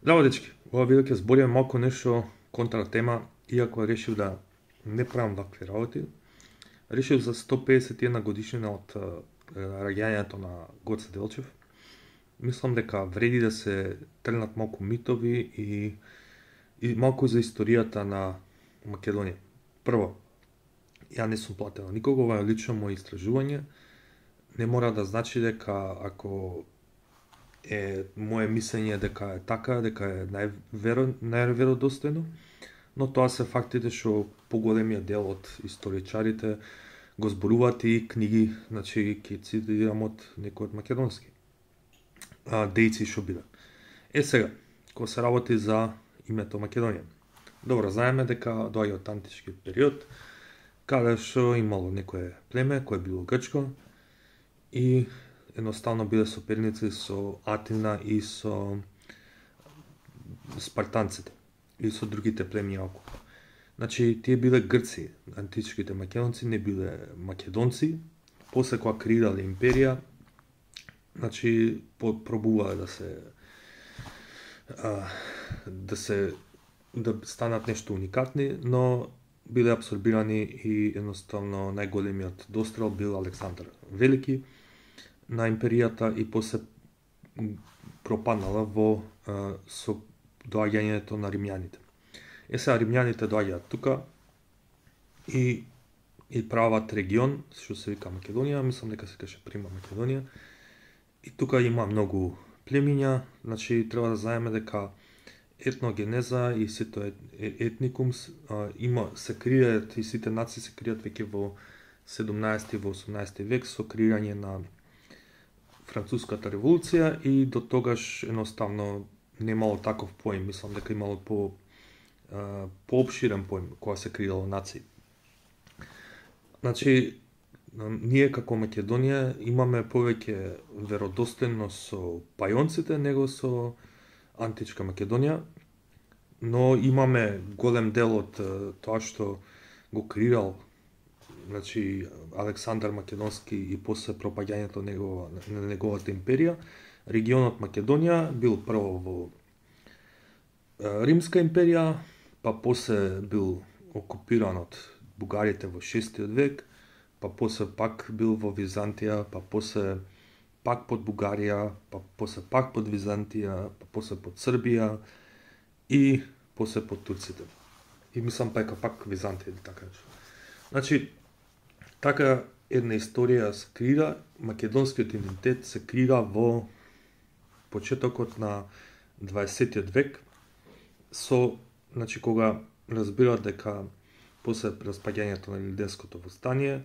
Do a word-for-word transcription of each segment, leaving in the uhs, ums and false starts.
Здраво, дечки! Ова видео ќе збориме малку нешто контра тема, иако решив да не правам вакви работи. Решив за сто педесет и една годишнина од раѓањето на Гоце Делчев. Мислам дека вреди да се тргнат малку митови и, и малку за историјата на Македонија. Прво, ја не сум платена никого, ова е лично моје истражување. Не мора да значи дека ако е моje мислење дека е така, дека е најверо, најверодостојно, но тоа се фактите што поголемиот дел од историчарите го зборуваат и книги, значи ќе цитирам од некој од македонски а, дејци што биле. Е сега, кога се работи за името Македонија. Добро, знаеме дека доаѓа од античкиот период, каде што имало некое племе кое било грчко и едноставно биле соперници со Атина и со спартанците и со другите племиња околу. Значи, тие биле грци, античките македонци не биле македонци. После кога креирале империја, значи пробувале да се а, да се да станат нешто уникатни, но биле абсорбирани и едноставно најголемиот дострел бил Александар Велики на империјата и после пропаднала во а, со доаѓањето на римјаните. Е сега римјаните доаѓаат тука и и прават регион што се вика Македонија, мислам дека се каже Прима Македонија. И тука има многу племиња, значи треба да знаеме дека етногенеза и сето етникум а, има се кријат и сите нации се кријат веќе во седумнаесети во осумнаесети век со креирање на Француската револуција и до тогаш едноставно немало таков поим, мислам дека имало по а, поопширен поим кога се креирало нации. Значи, ние како Македонија имаме повеќе веродостојност со пајонците него со античка Македонија, но имаме голем дел од тоа што го креирал, значи Александар Македонски и после пропаѓањето негова, на неговата империја. Регионот Македонија бил прво во Римска империја, па после бил окупиран од бугарите во шестиот век, па после пак бил во Византија, па после пак под Бугарија, па после пак под Византија, па после под Србија и после под турците. И мислам пака пак Византија или така нешто. Значи, така една историја се креира, македонскиот идентитет се креира во почетокот на дваесеттиот век, со, значи, кога разбираат дека после распаѓањето на Илинденското востание,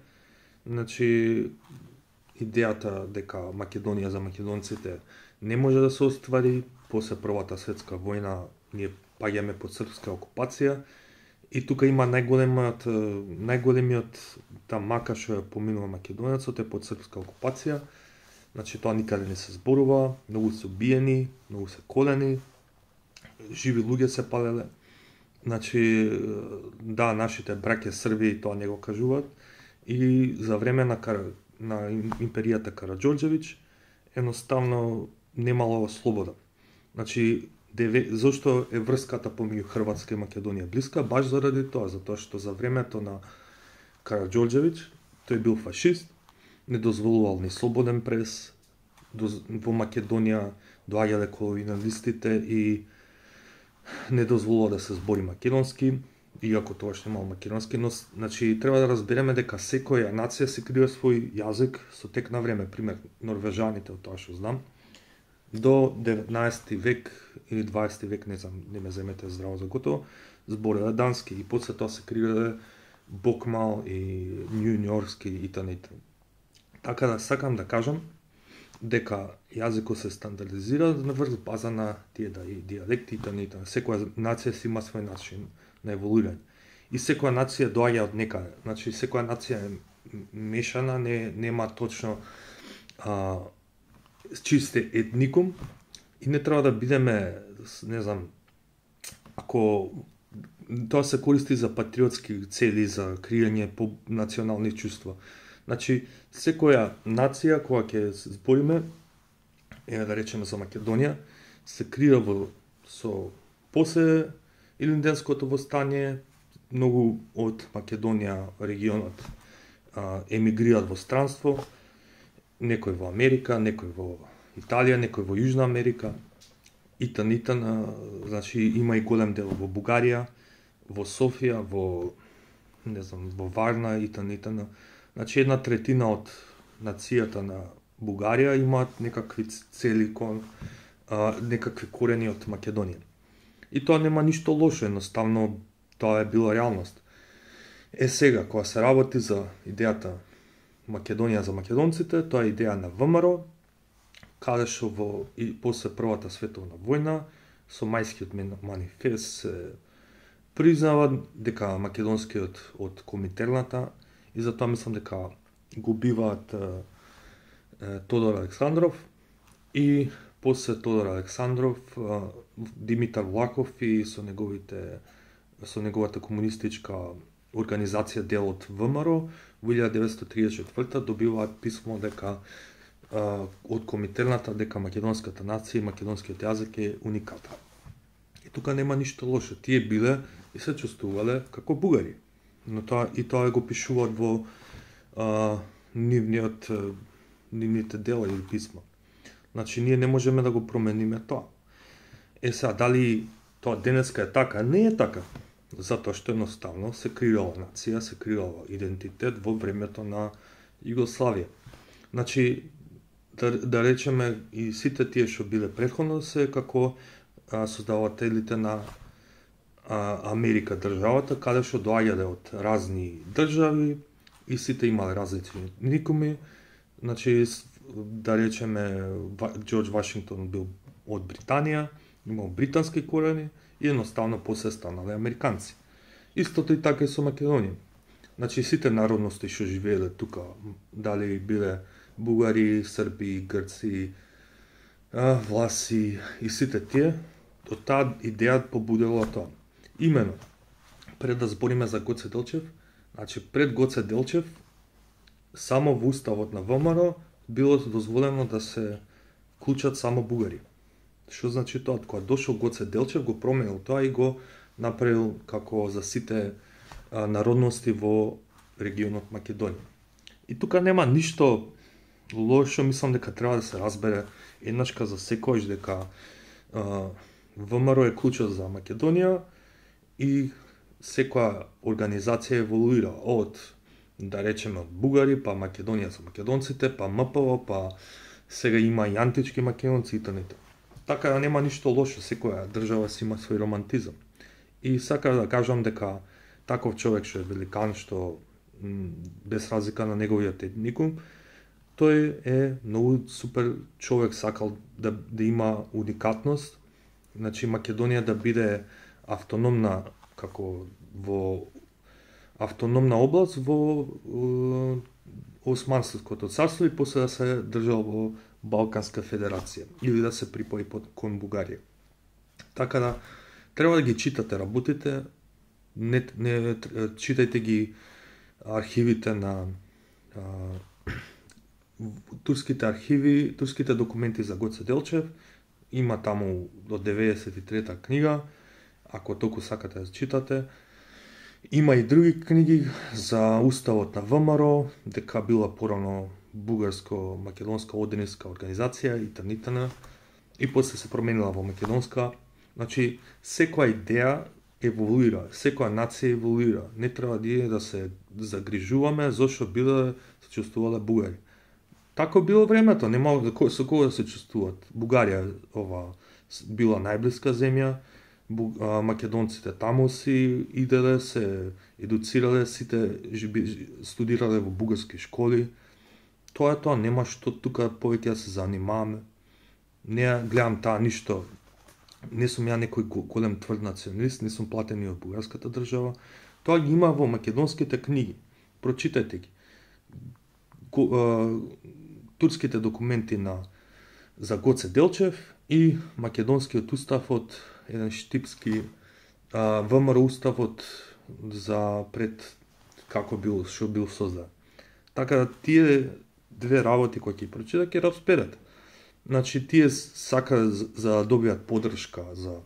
значи, идејата дека Македонија за македонците не може да се оствари, после Првата светска војна ние паѓаме под српска окупација и тука има најголемиот најголемиот тамака што ја поминува македонецот е под српска окупација. Значи тоа никаде не се зборува, многу се убиени, многу се колени, живи луѓе се палеле. Значи, да, нашите браќа Срби тоа не го кажуваат и за време на, Кар... на империјата Караџорџевиќ едноставно немало слобода. Значи, деве... зошто е врската помеѓу Хрватска и Македонија блиска? Баш заради тоа, затоа што за времето на Караџорџевиќ тој бил фашист, не дозволувал ни слободен прес, во Македонија доаѓале колониалистите и не дозволува да се збори македонски, иако тогаш немало македонски, но значи треба да разбереме дека секоја нација се креира свој јазик со тек на време, пример норвежаните, од тоа што знам, до деветнаесети век или дваесети век, не знам, не ме земете здраво за готово, збореле дански и после тоа се креирале бокмал и њуњорски и т.н. Така да сакам да кажам дека јазикот се стандардизира на врз база на тие да и дијалекти и т.н. Секоја нација си има свој начин на еволуирање. И секоја нација доаѓа од некаде. Значи секоја нација е мешана, не нема точно а, чисте етникум и не треба да бидеме, не знам, ако тоа се користи за патриотски цели, за криење по национални чувства. Значи, секоја нација која ќе збориме, е да речеме за Македонија, се крија во со после Илинденското востание, многу од Македонија регионот а, емигрираат во странство, некој во Америка, некој во Италија, некој во Јужна Америка, итан, итан, а, значи има и голем дел во Бугарија, во Софија, во не знам, во Варна, итан, итан. Значи една третина од нацијата на Бугарија имаат некакви цели кон, а, некакви корени од Македонија. И тоа нема ништо лошо, едноставно тоа е била реалност. Е сега, кога се работи за идејата Македонија за македонците, тоа е идеја на ВМРО, каде што во и после Првата световна војна со мајскиот манифест се признава дека македонскиот од Коминтерната, и затоа мислам дека го убиваат е, е, Тодор Александров и после Тодор Александров е, Димитар Влахов и со неговите со неговата комунистичка организација дел од ВМРО во илјада деветстотини триесет и четврта добиваат писмо дека а, од Коминтерната дека македонската нација и македонскиот јазик е уникатен. И тука нема ништо лошо. Тие биле и се чувствувале како бугари. Но тоа и тоа го пишуваат во а, нивниот нивните дела или писма. Значи ние не можеме да го промениме тоа. Е сега дали тоа денеска е така? Не е така. Затоа што едноставно се креирала нација, се креирала идентитет во времето на Југославија. Значи, да, да речеме и сите тие што биле претходно се како а, создавателите на а, Америка државата, каде што доаѓале од разни држави и сите имале различни никуми. Значи, да речеме, Џорџ Вашингтон бил од Британија, имал британски корени, и едноставно после станале американци. Истото и така и со Македонија. Значи сите народности што живееле тука, дали биле бугари, срби, грци, власи и сите тие, од таа идеја побудила тоа. Имено, пред да збориме за Гоце Делчев, значи пред Гоце Делчев, само во уставот на ВМРО било дозволено да се клучат само бугари. Што значи тоа? Кога дошол Гоце Делчев, го променил тоа и го направил како за сите а, народности во регионот Македонија. И тука нема ништо лошо, мислам дека треба да се разбере еднашка за секојаш дека а, ВМРО е клуча за Македонија и секоја организација еволуира од, да речеме, од бугари, па Македонија за македонците, па М П В, па сега има и антички македонци и т.н. Така да нема ништо лошо, секоја држава си има свој романтизам. И сакам да кажам дека таков човек што е великан, што без разлика на неговиот етникум, тој е многу супер човек, сакал да, да има уникатност, значи Македонија да биде автономна како во автономна област во е, Османското царство и после да се држал во Балканска федерација или да се припои под кон Бугарија. Така да треба да ги читате работите, не, не читајте ги архивите на а, турските архиви, турските документи за Гоце Делчев, има таму до деветдесет и трета книга, ако толку сакате да читате. Има и други книги за уставот на ВМРО, дека била порано бугарско-македонска одениска организација и т.н. И после се променила во македонска. Значи, секоја идеја еволуира, секоја нација еволуира. Не треба да се загрижуваме зашто биле се чувствувале бугари. Тако било времето, нема со кого да се чувствуваат. Бугарија ова била најблиска земја, македонците таму си иделе, се едуцирале, сите студирале во бугарски школи. Тоа е тоа, нема што тука повеќе да се занимаваме. Не гледам таа ништо. Не сум ја некој голем тврд националист, не сум платен и од бугарската држава. Тоа ги има во македонските книги. Прочитајте ги. Турските документи на за Гоце Делчев и македонскиот устав од еден штипски ВМРО уставот за пред како бил што бил создаден. Така да тие две работи кои ќе прочитате ќе разберете. Значи тие сака за да добијат поддршка за